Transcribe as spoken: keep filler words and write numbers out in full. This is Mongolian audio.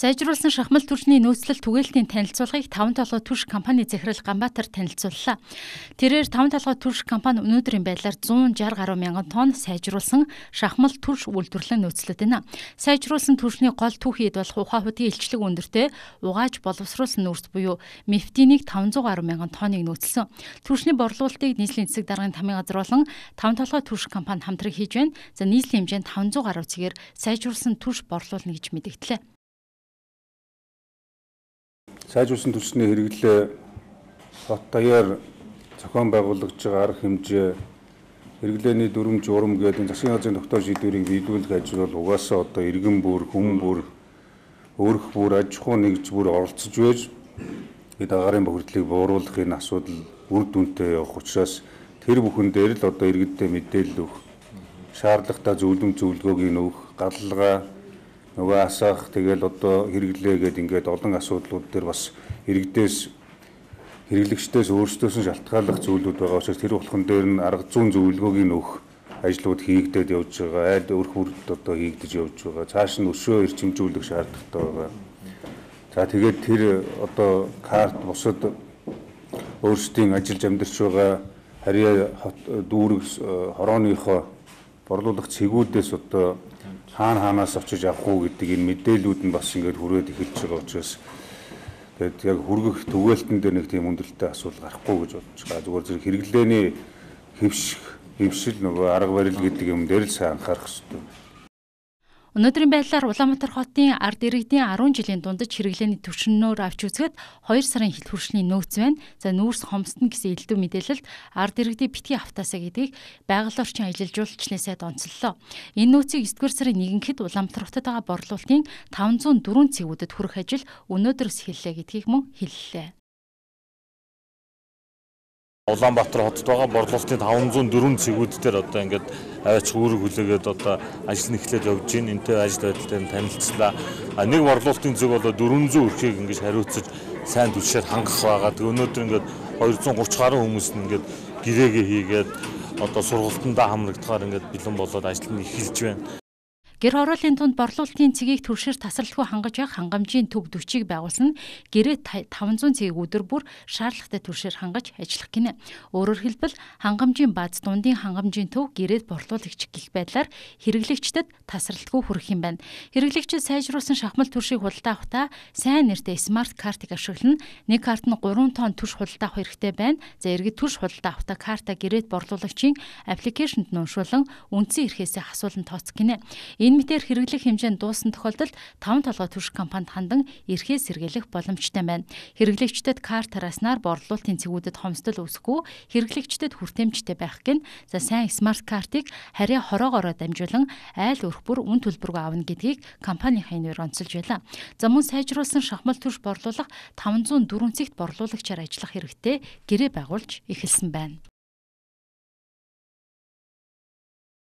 Сайжруулсан шахмал түвшний нөөцлөл түгээлтийн танилцуулгыг таван толгой түвш компани захирал Ганбаатар танилцууллаа. Тэрээр таван толгой түвш компани өнөөдрийн байдлаар зуун шарх гаруй мянган тонн сайжруулсан шахмал түвш үйлдвэрлэн нөөцлөд байна. Сайжруулсан түвшний гол түүхийд болох ухаан хөдгийн илчлэг өндөртэй угааж боловсруулсан нүүрс буюу мефтинийг таван зуун гаруй мянган тонныг нөөцлсөн. Түвшний борлуулалтыг нийслэлийн засаг даргын тамийн газар болон таван толгой түвш компани хамтран хийж байна. За нийслэлийн хэмжээнд таван зуун гаруй цэгээр сайжруулсан түвш борлуулна гэж мэдэгдлээ. Сайжруулсан түвшний хэрэглээ хот даяар зохион байгуулагдж байгаа арга хэмжээ, хэрэглээний дүрм журам гэдэг засгийн газрын тогтоох шийдвэрийг биелүүлэх ажил бол угаасаа одоо иргэн бүр, хүн бүр, өөрөх бүр, аж ахуй нэгж бүр оролцож байж бид агаарын бохирдлыг бууруулах энэ асуудал үр дүнтэй явах учраас тэр бүхэн дээр л одоо иргэдтэй мэдээлэл өгөх, шаардлагатай зөвлөм зөвлөгөөг өгөх, галлага нөгөө асаах тэгэл одоо хэрэглээ гэдэг ингээд олон асуудлууд дээр бас иргэдээс хэрэглэгчдээс өөрсдөөс нь шалтгааллах зүйлүүд байгаа учраас тэр болгон дээр нь арга зүйн зөвлөгөөг өгөх ажлууд хийгдээд явж байгаа. Айл өрх бүрд одоо хийгдэж явж байгаа. Цааш нь өшөө эрчимжүүлэх шаардлагатай байгаа. За тэгээд тэр одоо карт бусад өөрсдийн ажиллаж амьдарч байгаа харьяа дүүрэг хорооныхоо борлуулах цэгүүдээс одоо хаана хаанаас очиж авах уу гэдэг энэ мэдээлүүд нь бас ингээд хүрээд эхэлж байгаа учраас тэгээд яг хүргэх түгээлтэн дээр нэг тийм хүндрэлтэй асуудал гарахгүй гэж бодож байгаа. Зүгээр зэрэг хэрэглээний хэвших, хэвшил нөгөө арга барил гэдэг юм дээр л сайн анхаарах хэрэгтэй. Өнөөдрийн байдлаар Улаанбаатар хотын ард иргэдийн арван жилийн дундаж хэрэглээний түвшинөөр авч үзэхэд хоёр сарын хил хүршний нөөц байна. За нүүрс хомсдно гэсэн элдв мэдээлэлд ард иргэдийг битгий автаасаа гэдгийг байгаль орчин аялал жуулчлалын сайд онцоллоо. Энэ нөөцийг есдүгээр сарын нэгэнхэд Улаанбаатар хотод байгаа борлуулалтын таван зуун дөрвөн цэгүүдэд хүрэх ажил өнөөдрөөс эхэллээ гэдгийг мөн хэллээ. Улаанбаатар хотод байгаа борлуулалтын таван зуун дөрвөн цэгүүд дээр одоо ингээд аваач үүрэг хүлээгээд одоо ажил нь эхлээд явж байна. Энтэй ажил байдлаар нь танилцлаа. А нэг борлуулалтын зүг болоо дөрвөн зуун өрхийг ингээд хариуцаж сайн түвшээр хангах байгаа. Тэг өнөөдөр ингээд хоёрзуун гурван гаруй хүмүүс нь ингээд гэрээгээ хийгээд одоо сургалтандаа хамрагдахаар ингээд бэлэн болоод ажил нь эхэлж байна. Гэр хорооллын тунд борлуулалтын цэгийг түвшээр тасралтгүй хангаж явах хангамжийн төв дөчийг байгуулсан гэрээ таван зуун цэгийг өдөр бүр шаардлагатай түвшээр хангаж ажиллах гинэ. Өөрөөр хэлбэл хангамжийн бааз дундын хангамжийн төв гэрээд борлуулагч гэх байдлаар хэрэглэгчдэд тасралтгүй хүрэх юм байна. Хэрэглэгчид сайжруулсан шахмал түвшийг худалдаа авахдаа сайн нэртэй смарт картыг ашиглана. Нэг карт нь гурван тонн түвш худалдаа авах хэрэгтэй байна. За иргэд түвш худалдаа авахдаа карта гэрээд борлуулагчийн аппликейшнд нь уншуулан үндсэн эрхээсээ асуулан тооцох гинэ. Энэ мэтээр хэрэглэх хэмжээнд дууссан тохиолдолд таван толгой түвш компанид хандан эрхээ сэргийлэх боломжтой байна. Хэрэглэгчдэд карт тараснаар борлуулалтын цэгүүдэд хомсдол үүсэхгүй, хэрэглэгчдэд хүртээмжтэй байх гин. За сайн смарт картыг харьяа хороогоороо дамжуулан айл өрх бүр үн төлбөргүй авна гэдгийг компани хайнаар онцолж байлаа. За мөн сайжруулсан шахмал түвш борлуулах таван зуун дөрвөн цэгт борлуулагчаар ажиллах хэрэгтэй гэрээ байгуулж эхэлсэн байна.